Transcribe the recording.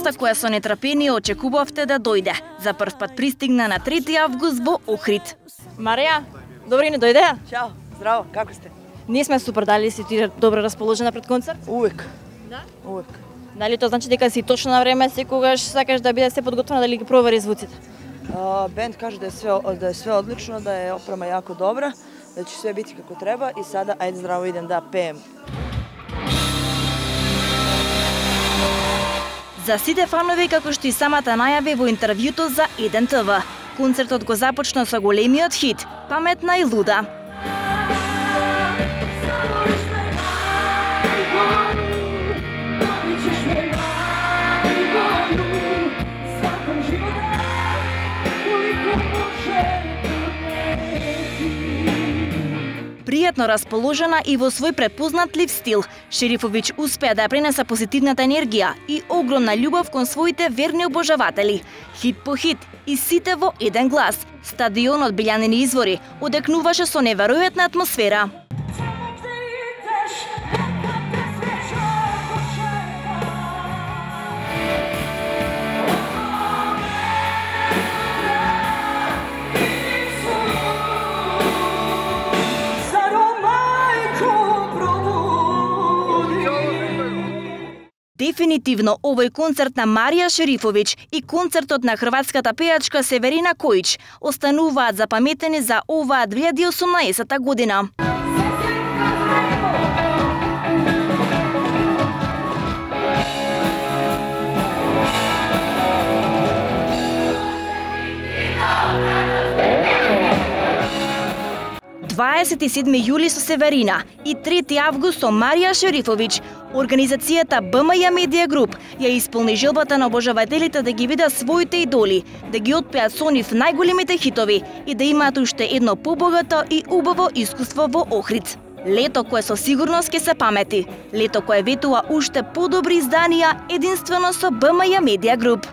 Денеска која со нетрпение очекувавте да дојде, за прв пат пристигна на 3 август во Охрид. Марија, добри не дојдеа? Ćao, zdravo, kako ste? Ние сме супер, дали си ти добро расположена пред концерт? Uvek. Да? Uvek. Дали тоа значи дека си точно на време, секогаш сакаш да биде се подготвена, дали ги провери звуците? Bend kaže da je sve odlično, da je oprema jako dobra, da će sve biti kako treba i sada ajde zdravo idem da pejem. За сите фанови, како што и самата најави во интервјуто за 1 ТВ, концертот го започна со големиот хит "Паметна и луда". Пријатно расположена и во свој препознатлив стил, Шерифовиќ успеа да пренесе позитивната енергија и огромна љубов кон своите верни обожаватели. Хит по хит и сите во еден глас. Стадионот Билјанини извори одекнуваше со неверојатна атмосфера. Дефинитивно, овој концерт на Марија Шерифовиќ и концертот на хрватската пејачка Северина Којич остануваат запаметени за оваа 2018 година. Дваесет и 7 јули со Северина и 3 август со Марија Шерифовиќ. Организацијата БМЈ Медија Груп ја исполни желбата на обожавателите да ги видат своите идоли, да ги отпеат со нив најголемите хитови и да имаат уште едно побогато и убаво искуство во Охрид. Лето кое со сигурност ќе се памети, лето кое ветува уште подобри изданија единствено со БМЈ Медија Груп.